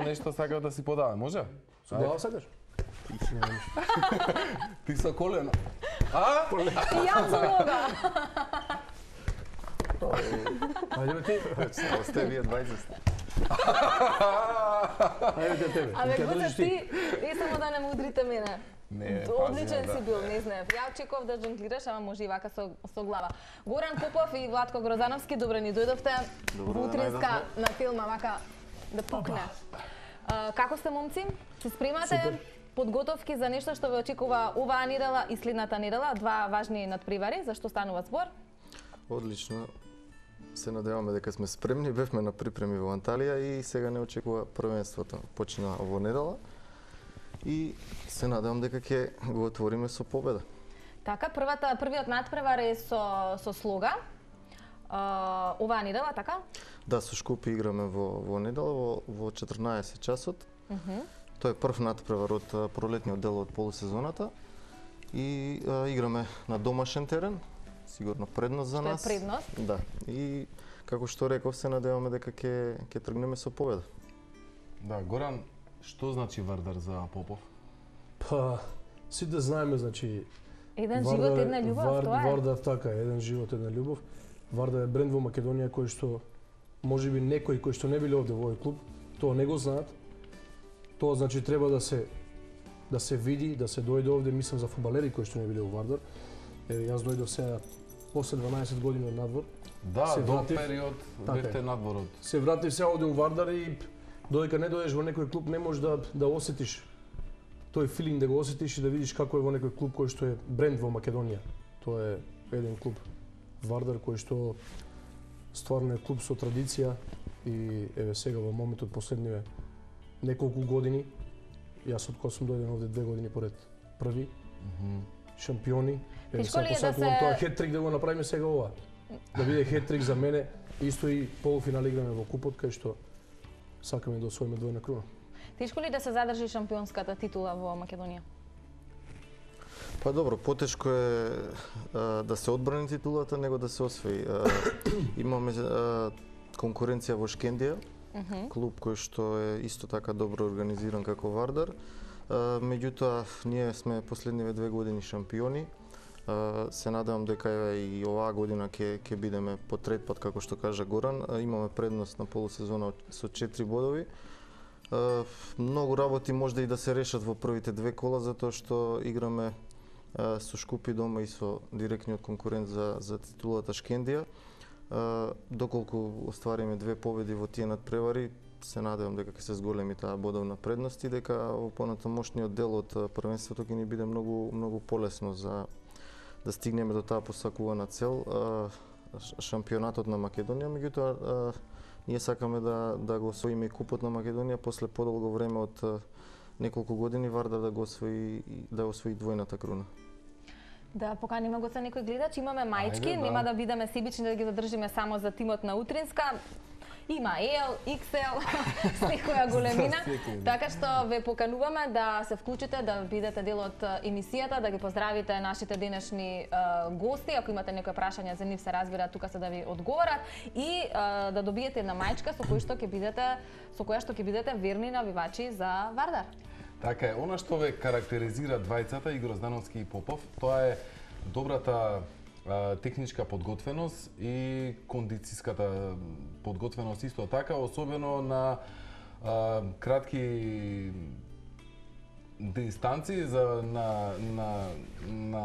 Нешто сакав да си подавам, може? Со глава сакаш? Ти со колено. И јас со нога. Ајде бе ти. Осте вие двајца сте. Ајде те тебе. Абе, Гоце, ти, и само да не ме удрите мене. Не, Одличен си бил, не знаев. Ја очекував да жонглираш, ама може и вака со глава. Горан Попов и Владко Грозановски, добре ни дојдовте во утринска на филма, вака да пукне. Како сте, момци? Се спремате? Подготовки за нешто што ве очекува оваа недела и следната недела, два важни надпревари, за што станува збор? Одлично. Се надеваме дека сме спремни, бевме на припреми во Анталија и сега не очекува првенството. Почина во недела и се надевам дека ќе го отвориме со победа. Така, првиот надпревар е со Слога. Оваа недела, така? Да, со Шкопје играме во недела во 14 часот. Тоа е прв надпревар од пролетниот дел од полусезоната и играме на домашен терен. Сигурно предност за нас. Што е предност? Да. И како што реков, се надеваме дека ќе тргнеме со победа. Да, Горан, што значи Вардар за Попов? Па, сите знаеме, значи... Еден живот, една љубов, тоа е. Вардар така, еден живот, една љубов. Вардар е бренд во Македонија кој што, можеби некои кои што не биле овде во овој клуб, тоа не го знаат. Тоа значи треба да се види, да се дојде овде, мислам за фудбалери кои што не биле во Вардар. Јас дојдов сега после 12 години од надвор. Да, до период бевте надворот. Се вратив сега овде у Вардар и додека не дојдеш во некој клуб не можеш да осетиш тој филинг, да го осетиш и да видиш како е во некој клуб кој што е бренд во Македонија. Тоа е еден клуб Вардар кој што стварно е клуб со традиција и еве сега во моментот последниве неколку години, јас од кога сум дојден овде 2 години поред први, шампиони. Тешко ли е да се... Тоа хет-трик да го направиме сега ова. Да биде хет-трик за мене, исто и полуфинал играме во купот, кај што сакаме да освоиме двојна круна. Тешко ли да се задржи шампионската титула во Македонија? Па добро, потешко е да се одбрани титулата, него да се освои. Имаме конкуренција во Шкендија, клуб кој што е исто така добро организиран како Вардар. Меѓутоа, ние сме последниве 2 години шампиони. Се надевам дека и оваа година ќе бидеме по трет пат, како што кажа Горан. Имаме предност на полусезона со 4 бодови. Многу работи може и да се решат во првите 2 кола, затоа што играме со Шкопје дома и со директниот конкурент за титулата Шкендија. Доколку оствариме 2 победи во тие надпревари, се надевам дека ќе се зголеми таа бодовна предност и дека во понатамошниот дел од првенството ќе ни биде многу полесно за да стигнеме до таа посакувана цел, шампионатот на Македонија. Меѓутоа, ние сакаме да го освоиме и купот на Македонија после подолго време од неколку години Вардар да освои двојната круна. Да поканиме го за некој гледач, имаме маички, нема да бидеме себични да ги задржиме само за тимот на утринска. Има L, XL, секоја големина, така што ве покануваме да се вклучите, да бидете дел од емисијата, да ги поздравите нашите денешни гости, ако имате некои прашања за нив се разбира, тука се да ви одговорат и да добиете една маичка со која што ќе бидете верни навивачи за Вардар. Така е, она што ве карактеризира двајцата, и Гроздановски и Попов, тоа е добрата техничка подготвеност и кондицијската подготвеност исто така, особено на кратки дистанции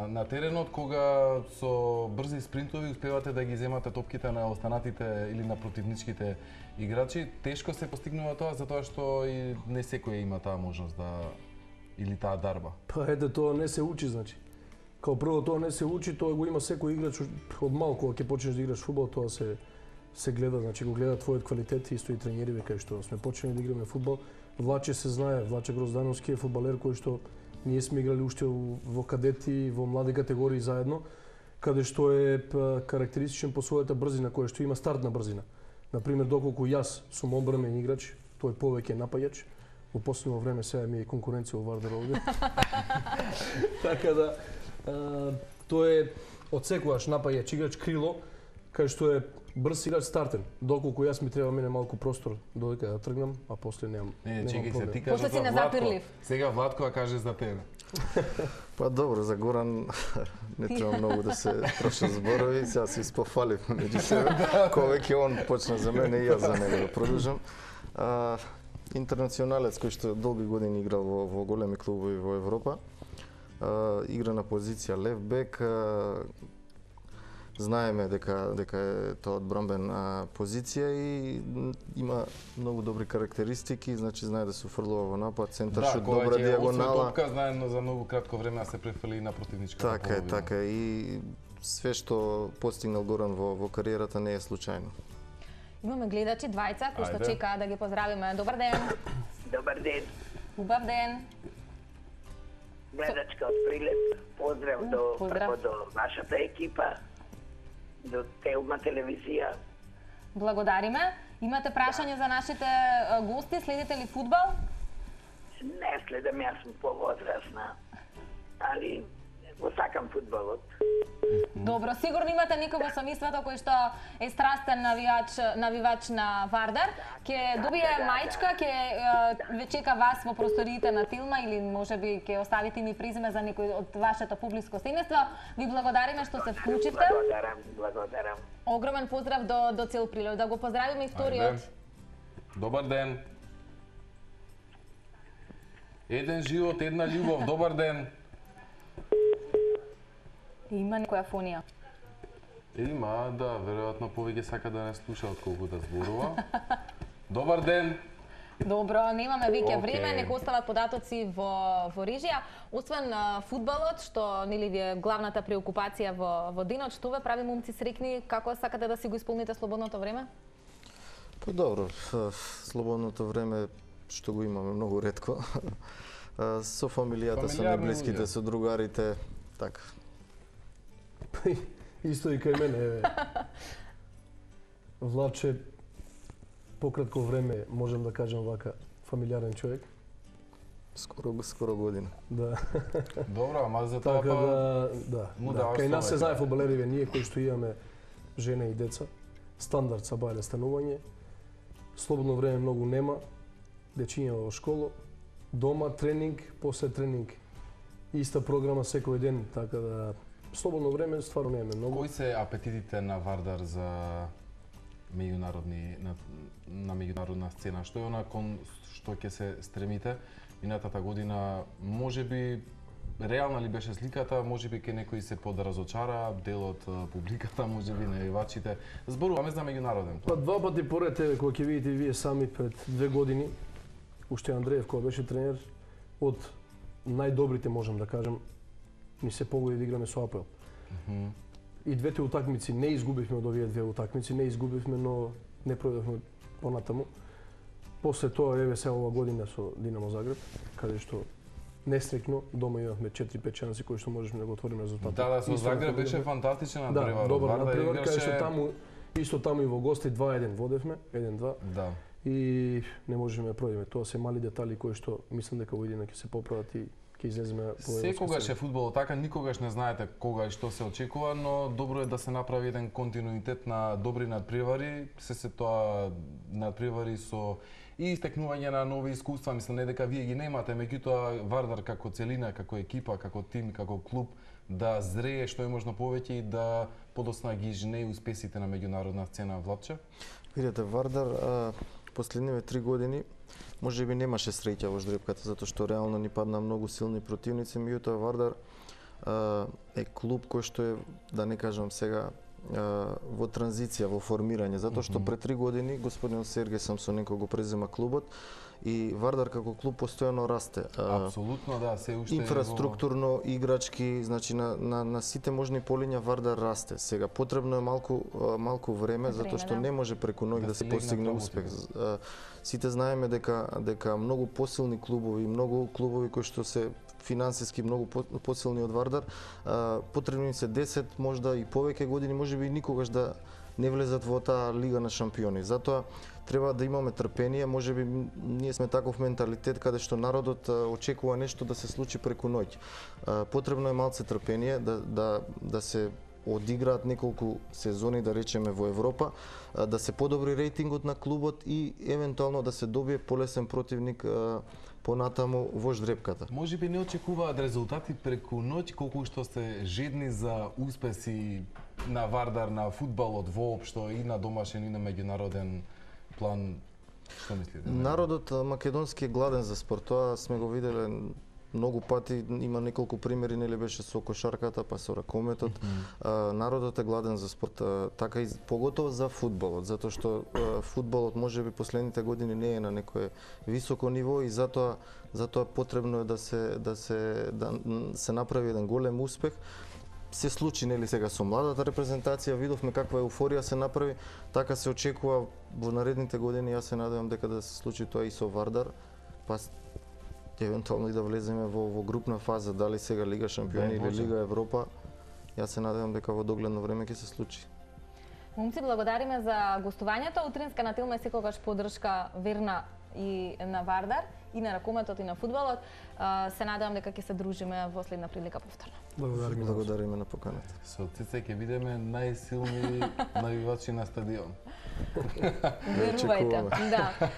на теренот, кога со брзи спринтови успевате да ги земате топките на останатите или на противничките играчи. Тешко се постигнува тоа, затоа што и не секој има таа можност или таа дарба. Па ете, тоа не се учи, значи. Као прво тоа не се учи, тоа го има секој играч од малку, кога ќе почнеш да играш фудбал, тоа се гледа, значи го гледа твојот квалитет, исто и тренериве кај што сме почнали да играме фудбал. Влаче се знае, Влаче Гроздановски е фудбалер кој што ние сме играли уште во кадети, во млади категории заедно, каде што е карактеристичен по својата брзина, која што има стартна брзина. Например, доколку јас сум одбранен играч, тој повеќе напаѓач. Во последно време сега ми е конкуренција во Вардар овде. Така да тој е од секогаш напаѓач играч, крило, кај што е брз играч стартен, доколку јас ми треба мене малку простор додека да тргнам, а после немам чекај се, проблем. ти кажа После си за Владко. незапирлив. Сега Владко каже за тебе. Па добро, за Горан не треба многу да се трошат зборови, сега се испофаливме меѓу себе. Кога веќе он почна за мене и јас за него да продолжам. Интернационалец кој што долги години играл во големи клубови во Европа. Игра на позиција лев бек. Знаеме дека е тоа одбранбена позиција и има многу добри карактеристики, значи знае да се уфрлува во напад, центар шут, добра дијагонала. Топка знае за многу кратко време да се префрли на противничката половина. Така е и све што постигнал Горан во кариерата не е случајно. Имаме гледачи двајца кои што чекаат да ги поздравиме. Добар ден. Добар ден. Убав ден. Гледачка од Прилеп. Поздрав до вашата екипа, до Телма телевизија. Благодариме. Имате прашање за нашите гости? Следите ли фудбал? Не следам, јас сум повозрасна, али го сакам фудбалот. Добро, сигурно имате некој во семејството кој што е страстен навивач на Вардар. Ќе добие мајчка, ќе ве чека вас во просториите на Тилма или можеби ќе оставите ми презиме за некој од вашето публиско семејство. Ви благодариме што се вклучивте. Благодарам. Огромен поздрав до цел Прилеп. Да го поздравиме и вториот. Добар ден. Еден живот, една љубов. Добар ден. Има некоја фонија. Има, да, веројатно повеќе сака да не слуша отколку да зборува. Добар ден. Добро, немаме веќе време, нека остават податоци во режија. Освен фудбалот, што нели ви е главната преокупација во денот, што ве прави момци среќни, како сакате да си го исполните слободното време? Па добро, слободното време што го имаме многу ретко. Со фамилијата, со најблиските, со другарите, така. Исто и кај мене, еве. Владче, пократко време, можем да кажем вака, фамилиарен човек. Скоро година. Да. Добро, ама за тоа Така да. Кај нас се знае фудбалериве, ние кои што имаме жена и деца, стандард са бајле станување, слободно време многу нема, дечиња во школо, дома тренинг, после тренинг иста програма секој ден, така да слободно време стварно немаме многу. Кои се апетитите на Вардар за на меѓународна сцена? Што е она кон што ќе се стремите? Минатата година можеби реална ли беше сликата, можеби ке некои се подразочара, дел од публиката, можеби навивачите. Зборуваме за меѓународен план. Па два пати поред еве кога ќе видите вие сами пред 2 години, уште Андреев кога беше тренер, од најдобрите можам да кажам, ни се погоди да играме со АПЛ. И двете утакмици не изгубивме од овие две утакмици, не изгубивме, но не продавме понатаму. После тоа еве се ова година со Динамо Загреб, каде што нестрекно дома имавме 4-5 шанси кои што можевме да го отвориме резултатот. Да, со Загреб беше фантастичен надпревар. Да, добар надпревар, каде што исто таму и во гости 2-1 водевме, 1-2. Да. И не можеме да продиме. Тоа се мали детали кои што мислам дека во година ќе се поправат и ќе излеземе по секогаш е фудбалот така, никогаш не знаете кога и што се очекува, но добро е да се направи еден континуитет на добри надпревари, се тоа надпревари со и истекнување на нови искуства, мислам не дека вие ги немате, меѓутоа Вардар како целина, како екипа, како тим, како клуб да зрее што е можно повеќе и да подосна ги женеи успесите на меѓународна сцена. Владче? Видете, Вардар последниве 3 години можеби немаше среќа во ждрепката, затоа што реално ни падна многу силни противници, меѓутоа Вардар е клуб кој што е, да не кажам сега, во транзиција, во формирање, затоа што пред 3 години господин Сергеј Самсоненко го презема клубот и Вардар како клуб постојано расте. Апсолутно, да, се уште инфраструктурно, играчки, значи на сите можни полиња Вардар расте. Сега потребно е малку време затоа што не може преку ноќ да се постигне успех. Сите знаеме дека многу посилни клубови, многу клубови кои што се финансиски многу посилни од Вардар, потребни се 10, можда и повеќе години, можеби никогаш да не влезат во таа лига на шампиони. Затоа треба да имаме трпение, можеби ние сме таков менталитет каде што народот очекува нешто да се случи преку ноќ. Потребно е малце трпение да се одиграат неколку сезони, да речеме, во Европа, да се подобри рейтингот на клубот и евентуално да се добие полесен противник понатаму во ждрепката. Може би не очекуваат резултати преку ноќ, колку што се жедни за успеси на Вардар, на фудбалот воопшто, и на домашен и на меѓународен план. Што мислите? Народот македонски е гладен за спорт, тоа сме го виделе многу пати, има неколку примери, нели беше со кошарката, па со ракометот. Народот е гладен за спорт, така и поготово за фудбалот, затоа што фудбалот можеби последните години не е на некое високо ниво и затоа потребно е да се направи еден голем успех. Се случи, нели, сега со младата репрезентација, видовме каква еуфорија се направи, така се очекува во наредните години. Јас се надевам дека да се случи тоа и со Вардар, па евентуално и да влеземе во групна фаза, дали сега Лига Шампиони или Лига Европа. Јас се надевам дека во догледно време ќе се случи. Момци, благодариме за гостувањето. Утринска на Тилма е секогаш поддршка верна и на Вардар, и на ракометот, и на фудбалот. Се надевам дека ќе се дружиме во следна прилика повторно. Благодариме на поканата. Со Цице ќе бидеме најсилни навивачи на стадион. Верувајте. Да.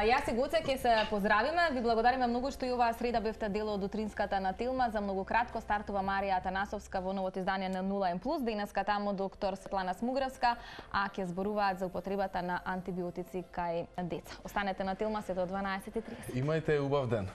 Јас и Гоце ќе се поздравиме. Ви благодариме многу што и оваа среда бевте дел од утринската на Тилма. За многу кратко стартува Марија Атанасовска во новото издание на 0N+. Денеска таму доктор Светлана Смугравска, а ќе зборуваат за употребата на антибиотици кај деца. Останете на Тилма се до 12:30. Имајте убав ден.